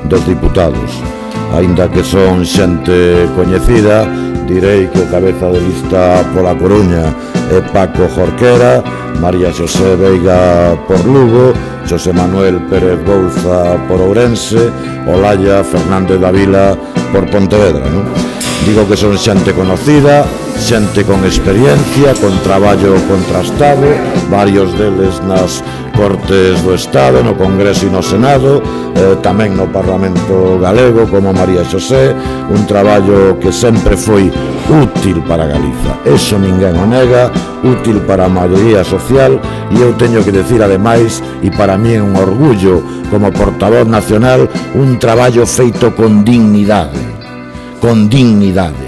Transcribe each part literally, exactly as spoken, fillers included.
dos Diputados. Aínda que son xente coñecida, direi que o cabeza de lista pola Coruña é Paco Jorquera, María Xosé Veiga por Lugo, Xosé Manuel Pérez Bouza por Ourense, Olaya Fernández Davila por Pontevedra, non? Digo que son xente conocida, xente con experiencia, con traballo contrastado, varios deles nas Cortes do Estado, no Congreso e no Senado, eh, tamén no Parlamento Galego, como María Xosé, un traballo que sempre foi útil para Galiza. Eso ninguén o nega, útil para a maioría social, e eu teño que decir, ademais, e para mí é un orgullo como portavoz nacional, un traballo feito con dignidade, con dignidade.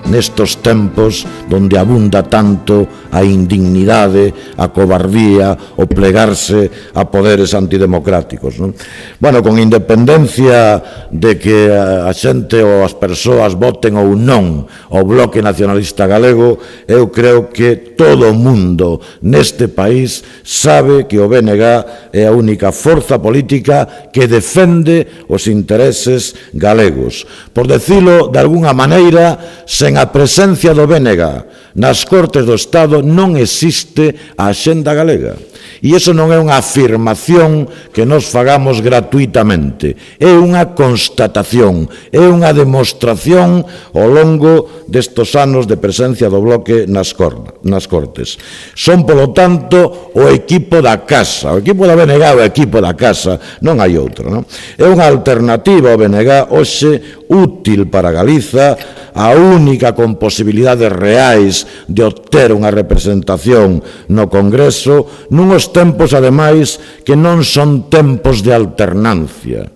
Nestos tempos donde abunda tanto a indignidade, a cobardía, o plegarse a poderes antidemocráticos, non? Bueno, con independencia de que a xente ou as persoas voten ou non o Bloque Nacionalista Galego, eu creo que todo o mundo neste país sabe que o B N G é a única forza política que defende os intereses galegos. Por decilo de algunha maneira, sen a presencia do B N G nas Cortes do Estado non existe a axenda galega. E iso non é unha afirmación que nos fagamos gratuitamente, é unha constatación, é unha demostración ao longo destos anos de presencia do Bloque nas Cortes. Son, polo tanto, o equipo da casa, o equipo da B N G é o equipo da casa, non hai outro, non? É unha alternativa ao B N G hoxe útil para Galiza, a única con posibilidades reais de obter unha representación no Congreso, nuns tempos, ademais, que non son tempos de alternancia.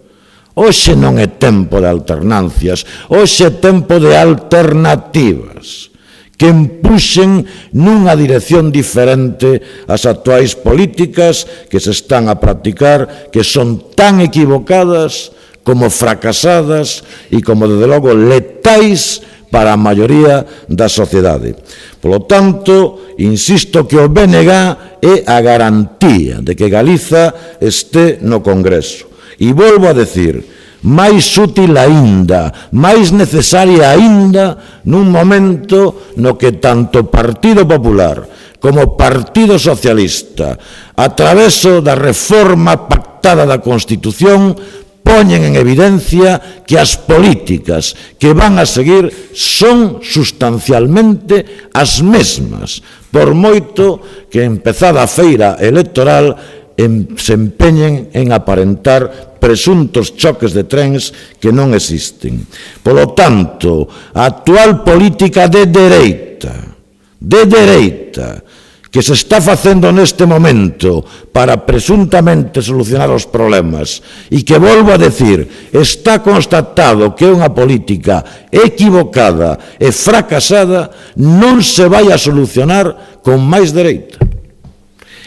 Hoxe non é tempo de alternancias, hoxe é tempo de alternativas que empuxen nunha dirección diferente as actuais políticas que se están a practicar, que son tan equivocadas como fracasadas e como, desde logo, letais para a maioría da sociedade. Polo tanto, insisto que o B N G é a garantía de que Galiza este no Congreso. E volvo a decir, máis útil aínda, máis necesaria aínda nun momento no que tanto Partido Popular como Partido Socialista, a traveso da reforma pactada da Constitución, poñen en evidencia que as políticas que van a seguir son sustancialmente as mesmas, por moito que empezada a feira electoral se empeñen en aparentar presuntos choques de trens que non existen. Polo tanto, a actual política de dereita, de dereita, que se está facendo neste momento para presuntamente solucionar os problemas e que, volvo a decir, está constatado que é unha política equivocada e fracasada, non se vai a solucionar con máis dereita.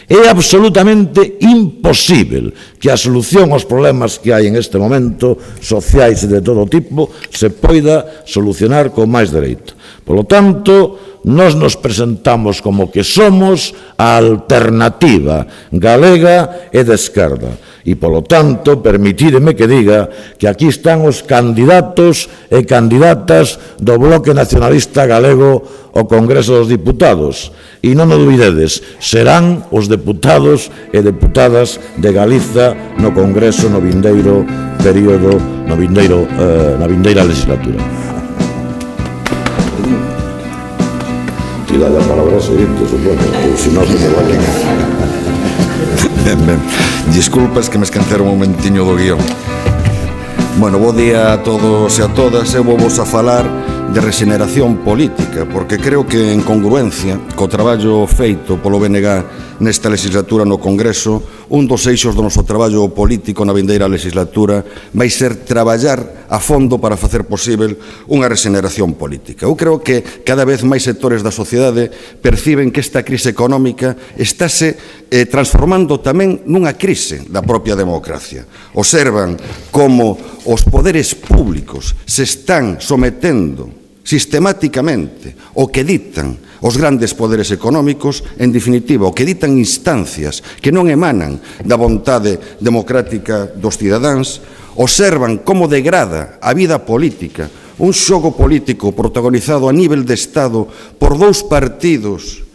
É absolutamente imposible que a solución aos problemas que hai en este momento, sociais e de todo tipo, se poida solucionar con máis dereita. Polo tanto, nós nos presentamos como que somos a alternativa galega e de esquerda. E, polo tanto, permitídeme que diga que aquí están os candidatos e candidatas do Bloque Nacionalista Galego ao Congreso dos Diputados. E non o dubidedes, serán os deputados e deputadas de Galiza no Congreso no vindeiro período, no vindeiro, eh, na vindeira legislatura. Tira a palabra seguinte, supoño, ou se non se me vai. Ben, ben. Disculpas que me esqueceron un momentiño do guión. Bueno, bo día a todos e a todas. Eu vou vos a falar de regeneración política, porque creo que en congruencia co traballo feito polo B N G nesta legislatura no Congreso, un dos eixos do noso traballo político na vindeira legislatura vai ser traballar a fondo para facer posible unha regeneración política. Eu creo que cada vez máis sectores da sociedade perciben que esta crise económica estáse eh, transformando tamén nunha crise da propia democracia. Observan como os poderes públicos se están sometendo sistemáticamente o que ditan os grandes poderes económicos, en definitiva, o que ditan instancias que non emanan da vontade democrática dos cidadáns, observan como degrada a vida política, un xogo político protagonizado a nivel de Estado por dous partidos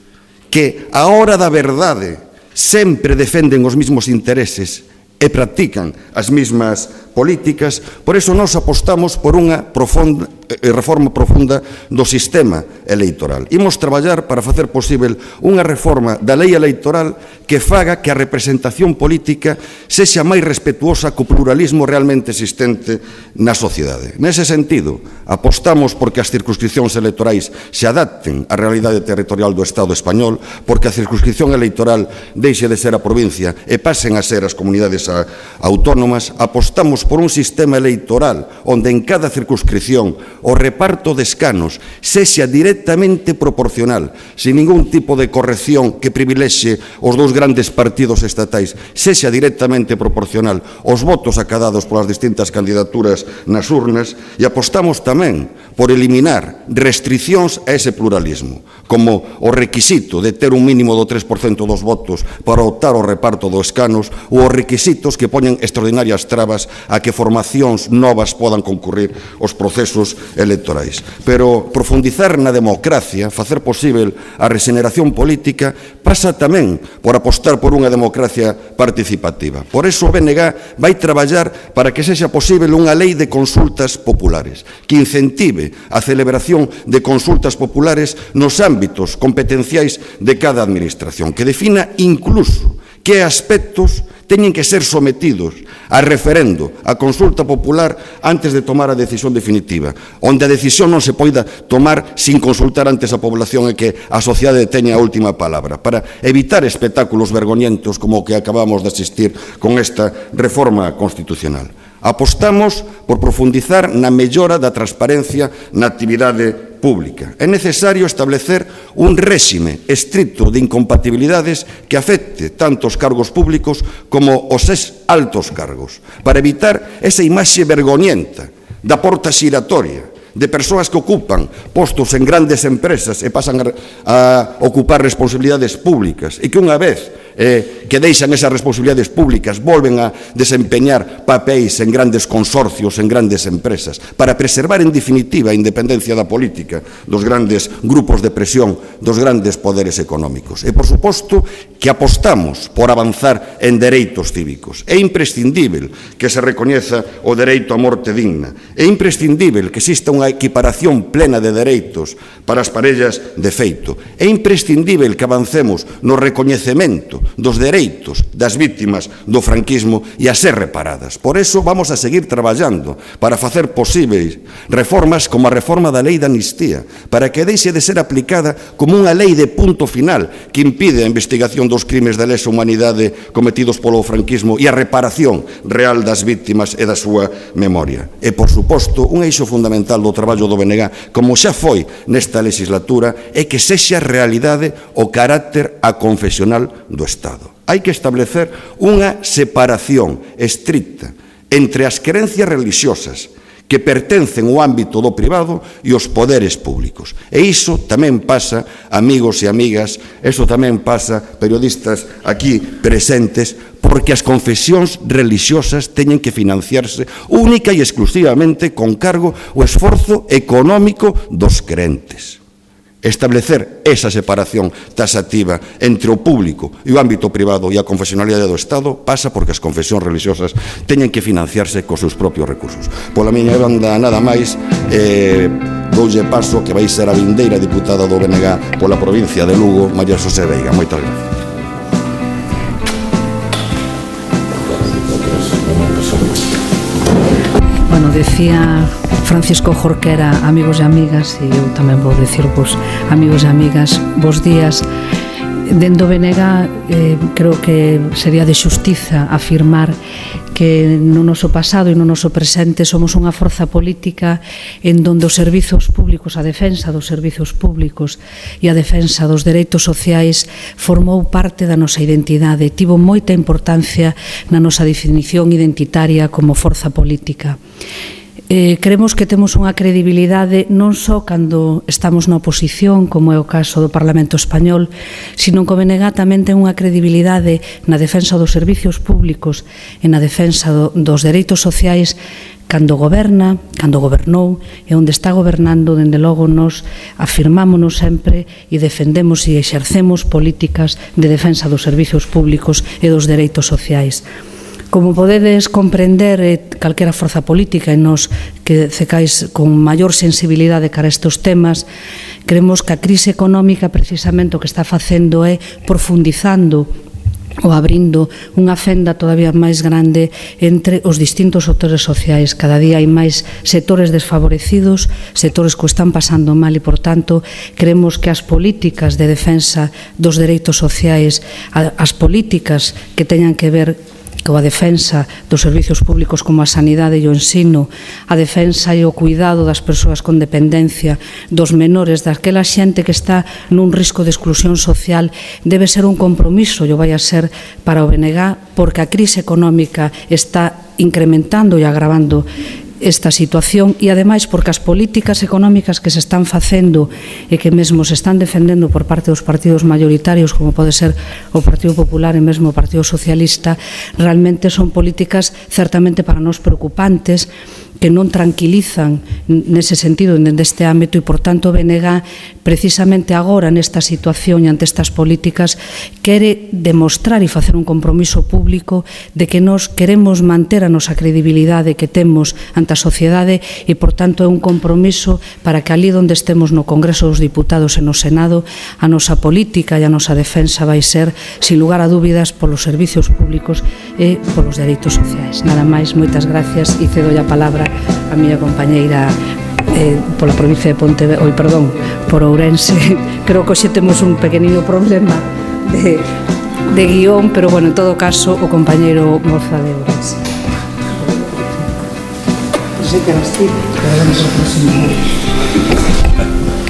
que, á hora da verdade, sempre defenden os mesmos intereses e practican as mesmas políticas. Por iso nós apostamos por unha profunda, eh, reforma profunda do sistema electoral. Imos traballar para facer posible unha reforma da lei electoral que faga que a representación política sexa máis respetuosa co pluralismo realmente existente na sociedade. Nese sentido, apostamos porque as circunscripcións electorais se adapten á realidade territorial do Estado español, porque a circunscripción electoral deixe de ser a provincia e pasen a ser as comunidades autónomas. Apostamos por un sistema electoral onde en cada circunscripción o reparto de escanos sexa directamente proporcional, sin ningún tipo de corrección que privilexe os dous grandes partidos estatais, sexa directamente proporcional os votos acadados polas distintas candidaturas nas urnas. E apostamos tamén por eliminar restriccións a ese pluralismo, como o requisito de ter un mínimo do tres por cento dos votos para optar ao reparto dos escanos, ou os requisitos que poñen extraordinarias trabas a que formacións novas podan concurrir aos procesos electorais. Pero profundizar na democracia, facer posible a regeneración política, pasa tamén por apostar por unha democracia participativa. Por iso o B N G vai traballar para que sexa posible unha lei de consultas populares que incentive a celebración de consultas populares nos ámbitos competenciais de cada administración, que defina incluso que aspectos teñen que ser sometidos a referendo, a consulta popular, antes de tomar a decisión definitiva, onde a decisión non se poida tomar sin consultar antes a población e que a sociedade teña a última palabra, para evitar espectáculos vergoñentos como o que acabamos de asistir con esta reforma constitucional. Apostamos por profundizar na mellora da transparencia na actividade pública. É necesario establecer un réxime estricto de incompatibilidades que afecte tanto os cargos públicos como os altos cargos, para evitar esa imaxe vergoñenta da porta xiratoria de persoas que ocupan postos en grandes empresas e pasan a ocupar responsabilidades públicas e que unha vez Eh, que deixan esas responsabilidades públicas volven a desempeñar papéis en grandes consorcios, en grandes empresas, para preservar en definitiva a independencia da política dos grandes grupos de presión dos grandes poderes económicos. E, por suposto, que apostamos por avanzar en dereitos cívicos. É imprescindível que se recoñeza o dereito a morte digna. É imprescindível que exista unha equiparación plena de dereitos para as parellas de feito. É imprescindível que avancemos no recoñecemento dos dereitos das vítimas do franquismo e a ser reparadas. Por iso vamos a seguir traballando para facer posibles reformas como a reforma da lei da amnistía, para que deixe de ser aplicada como unha lei de punto final que impide a investigación dos crimes de lesa humanidade cometidos polo franquismo e a reparación real das vítimas e da súa memoria. E, por suposto, un eixo fundamental do traballo do B N G, como xa foi nesta legislatura, é que sexa realidade o carácter aconfesional do Estado. Hai que establecer unha separación estricta entre as creencias religiosas que pertencen ao ámbito do privado e os poderes públicos. E iso tamén pasa, amigos e amigas, iso tamén pasa, periodistas aquí presentes, porque as confesións religiosas teñen que financiarse única e exclusivamente con cargo o esforzo económico dos crentes. Establecer esa separación taxativa entre o público e o ámbito privado e a confesionalidade do Estado pasa porque as confesións religiosas teñen que financiarse cos seus propios recursos. Pola miña banda nada máis, eh, doulle paso que vai ser a vindeira diputada do B N G pola provincia de Lugo, María Xosé Veiga. Moitas gracias. Bueno, decía Francisco Jorquera, amigos e amigas, e eu tamén vou dicirvos, amigos e amigas, bos días. Dendo B N G, eh, creo que sería de xustiza afirmar que no noso pasado e no noso presente somos unha forza política en donde os servizos públicos, a defensa dos servizos públicos e a defensa dos dereitos sociais formou parte da nosa identidade, tivo moita importancia na nosa definición identitaria como forza política. Eh, creemos que temos unha credibilidade non só cando estamos na oposición, como é o caso do Parlamento Español, sino que o B N G tamén ten unha credibilidade na defensa dos servicios públicos e na defensa do, dos dereitos sociais cando goberna, cando gobernou e onde está gobernando, dende logo nos afirmámonos sempre e defendemos e exercemos políticas de defensa dos servicios públicos e dos dereitos sociais. Como podedes comprender, eh, calquera forza política e nos que cecais con maior sensibilidade cara a estes temas, creemos que a crise económica precisamente o que está facendo é profundizando ou abrindo unha fenda todavía máis grande entre os distintos sectores sociais. Cada día hai máis sectores desfavorecidos, sectores que o están pasando mal e, por tanto, creemos que as políticas de defensa dos dereitos sociais, as políticas que teñan que ver coa defensa dos servicios públicos como a sanidade e o ensino, a defensa e o cuidado das persoas con dependencia, dos menores, daquela xente que está nun risco de exclusión social, debe ser un compromiso, e o vai a ser para o B N G, porque a crise económica está incrementando e agravando esta situación e, ademais, porque as políticas económicas que se están facendo e que mesmo se están defendendo por parte dos partidos maioritarios, como pode ser o Partido Popular e mesmo o Partido Socialista, realmente son políticas certamente para nós preocupantes, que non tranquilizan nese sentido neste ámbito e, por tanto, o B N G precisamente agora nesta situación e ante estas políticas quere demostrar e facer un compromiso público de que nós queremos manter a nosa credibilidade que temos ante a sociedade e, por tanto, é un compromiso para que ali onde estemos no Congreso dos Diputados e no Senado a nosa política e a nosa defensa vai ser, sin lugar a dúbidas, polos servicios públicos e polos dereitos sociais. Nada máis, moitas gracias e cedo a palabra a miña compañeira eh, pola provincia de Pontevedra, oi, perdón, por Ourense. Creo que hoxe temos un pequeniño problema de, de guión, pero, bueno, en todo caso, o compañeiro Moza de Ourense.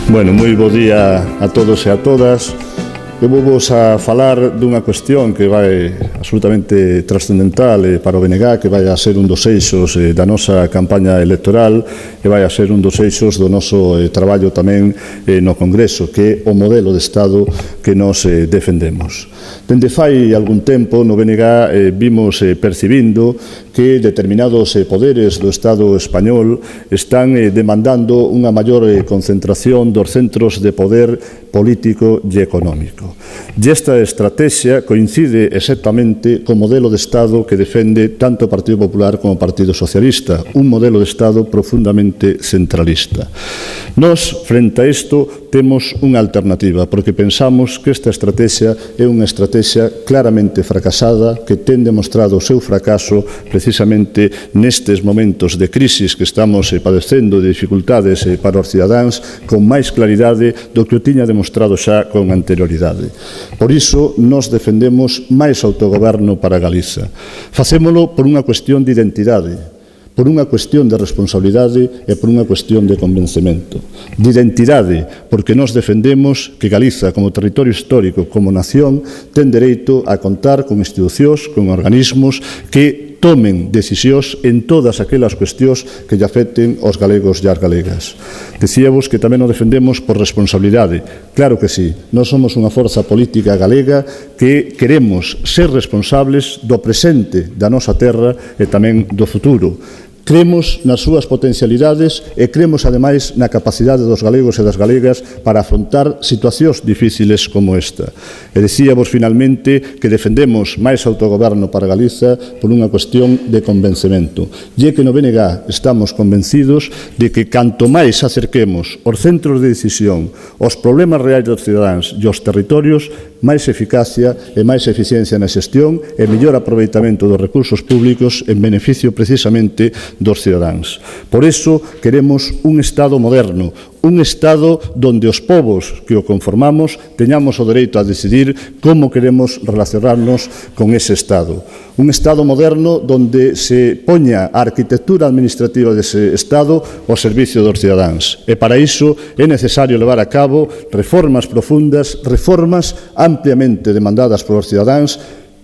Bueno, moi bo día a todos e a todas. Eu vou vos a falar dunha cuestión que vai absolutamente trascendental para o B N G, que vai a ser un dos eixos da nosa campaña electoral e vai a ser un dos eixos do noso traballo tamén no Congreso, que é o modelo de Estado que nos defendemos. Dende fai algún tempo no B N G vimos percibindo que determinados poderes do Estado español están demandando unha maior concentración dos centros de poder político e económico. E esta estrategia coincide exactamente co modelo de Estado que defende tanto o Partido Popular como o Partido Socialista, un modelo de Estado profundamente centralista. Nós, frente a isto, temos unha alternativa, porque pensamos que esta estrategia é unha estrategia claramente fracasada, que ten demostrado o seu fracaso precisamente nestes momentos de crisis que estamos padecendo, de dificultades para os cidadáns, con máis claridade do que o tiña demostrado xa con anterioridade. Por iso, nós defendemos máis autogoberno para Galiza. Facémolo por unha cuestión de identidade, por unha cuestión de responsabilidade e por unha cuestión de convencemento. De identidade, porque nós defendemos que Galiza, como territorio histórico, como nación, ten dereito a contar con institucións, con organismos que tomen decisións en todas aquelas cuestións que lle afecten aos galegos e as galegas. Decíamos que tamén o defendemos por responsabilidade. Claro que sí, nós somos unha forza política galega que queremos ser responsables do presente da nosa terra e tamén do futuro. Cremos nas súas potencialidades e cremos, ademais, na capacidade dos galegos e das galegas para afrontar situacións difíciles como esta. E dicíamos, finalmente, que defendemos máis autogoberno para Galiza por unha cuestión de convencemento. E é que no B N G estamos convencidos de que canto máis acerquemos os centros de decisión, os problemas reais dos cidadáns e os territorios, máis eficacia e máis eficiencia na xestión e mellor aproveitamento dos recursos públicos en beneficio precisamente dos cidadáns. Por iso queremos un Estado moderno, un Estado donde os povos que o conformamos teñamos o dereito a decidir como queremos relacionarnos con ese Estado. Un Estado moderno donde se poña a arquitectura administrativa dese Estado ao servicio dos cidadáns. E para iso é necesario levar a cabo reformas profundas, reformas ampliamente demandadas polos cidadáns,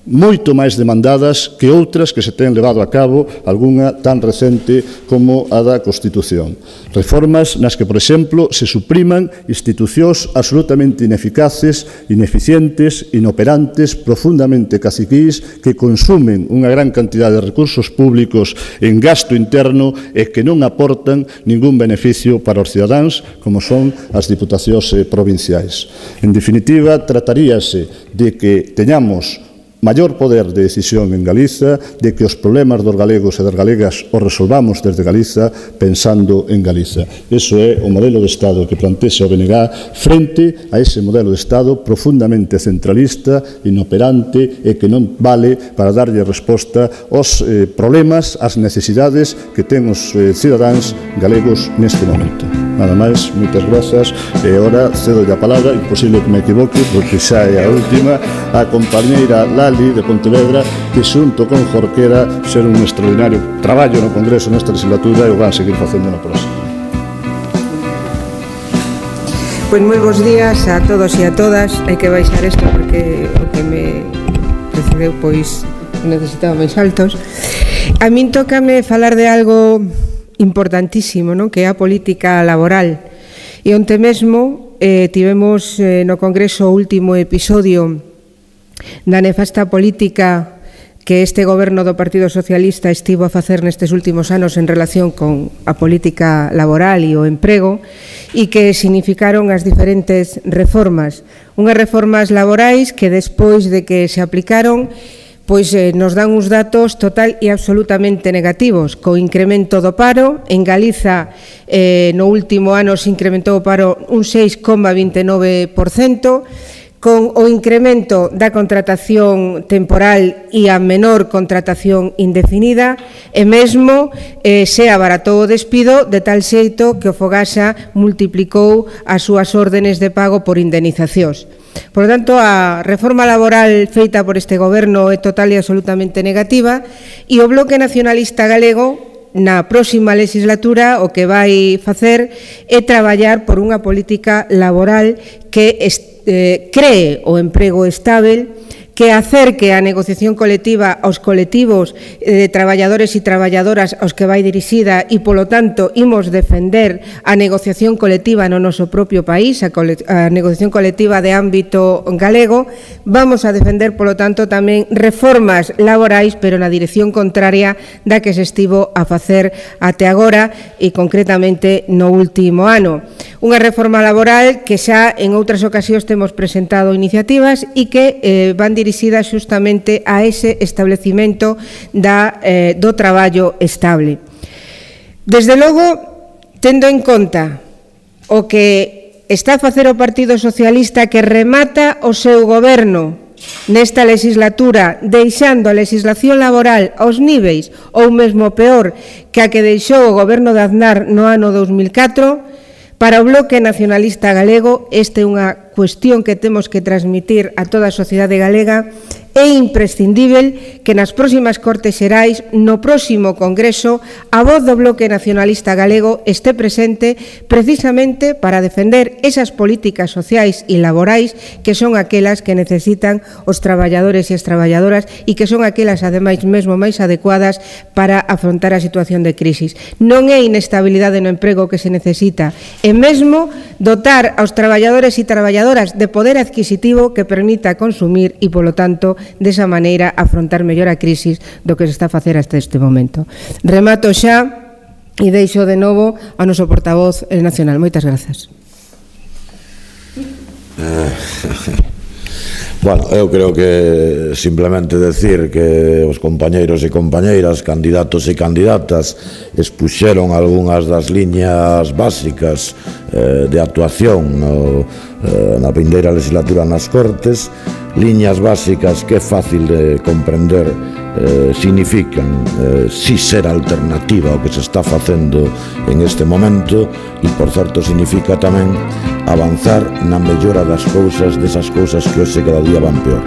moito máis demandadas que outras que se ten levado a cabo, algunha tan recente como a da Constitución. Reformas nas que, por exemplo, se supriman institucións absolutamente ineficaces, ineficientes, inoperantes, profundamente caciquís, que consumen unha gran cantidad de recursos públicos en gasto interno e que non aportan ningún beneficio para os cidadáns, como son as diputacións provinciais. En definitiva, trataríase de que teñamos maior poder de decisión en Galiza, de que os problemas dos galegos e das galegas os resolvamos desde Galiza pensando en Galiza. Iso é o modelo de Estado que plantexa o B N G frente a ese modelo de Estado profundamente centralista, inoperante e que non vale para darlle resposta aos eh, problemas, ás necesidades que ten os eh, cidadáns galegos neste momento. Nada máis, moitas grazas, e agora cedo a palabra, imposible que me equivoque, porque xa é a última, a compañeira Lali de Pontevedra, que xunto con Jorquera fixeron un extraordinario traballo no Congreso nesta legislatura e o van seguir facendo na próxima. Pois moi bons días a todos e a todas. Hai que baixar isto porque o que me precedeu pois necesitaba máis altos. A min tócame falar de algo importantísimo, non? Que é a política laboral. E onte mesmo eh, tivemos eh, no Congreso o último episodio da nefasta política que este goberno do Partido Socialista estivo a facer nestes últimos anos en relación con a política laboral e o emprego, e que significaron as diferentes reformas. Unhas reformas laborais que despois de que se aplicaron pois eh, nos dan uns datos total e absolutamente negativos, co incremento do paro. En Galiza, eh, no último ano se incrementou o paro un seis coma vinte e nove por cento, con o incremento da contratación temporal e a menor contratación indefinida, e mesmo eh, se abaratou o despido de tal xeito que o Fogasa multiplicou as súas órdenes de pago por indemnizacións. Por lo tanto, a reforma laboral feita por este goberno é total e absolutamente negativa, e o Bloque Nacionalista Galego na próxima legislatura o que vai facer é traballar por unha política laboral que eh, cree o emprego estável, que acerque a negociación colectiva aos colectivos de traballadores e traballadoras aos que vai dirixida, e, polo tanto, imos defender a negociación colectiva no noso propio país, a, a negociación colectiva de ámbito galego. Vamos a defender, polo tanto, tamén reformas laborais, pero na dirección contraria da que se estivo a facer até agora e, concretamente, no último ano. Unha reforma laboral que xa en outras ocasións temos presentado iniciativas e que eh, van dirixidas dirixida xustamente a ese establecimento da, eh, do traballo estable. Desde logo, tendo en conta o que está a facer o Partido Socialista, que remata o seu goberno nesta legislatura, deixando a legislación laboral aos níveis ou mesmo peor que a que deixou o goberno de Aznar no ano dos mil catro, para o Bloque Nacionalista Galego esta é unha cuestión que temos que transmitir a toda a sociedade galega. É imprescindível que nas próximas Cortes Xerais, no próximo Congreso, a voz do Bloque Nacionalista Galego este presente precisamente para defender esas políticas sociais e laborais que son aquelas que necesitan os traballadores e as traballadoras e que son aquelas, ademais, mesmo máis adecuadas para afrontar a situación de crisis. Non é inestabilidade no emprego que se necesita, e mesmo dotar aos traballadores e traballadoras de poder adquisitivo que permita consumir e, polo tanto, desa maneira afrontar mellor a crisis do que se está a facer hasta este momento. Remato xa e deixo de novo ao noso portavoz nacional. Moitas grazas. Bueno, eu creo que simplemente decir que os compañeiros e compañeiras, candidatos e candidatas, expuxeron algunhas das liñas básicas eh, de actuación no, eh, na vindeira legislatura nas Cortes, liñas básicas que é fácil de comprender, eh, significan eh, si ser alternativa ao que se está facendo en este momento, e, por certo, significa tamén avanzar na mellora das cousas, desas cousas que hoxe cada día van peor.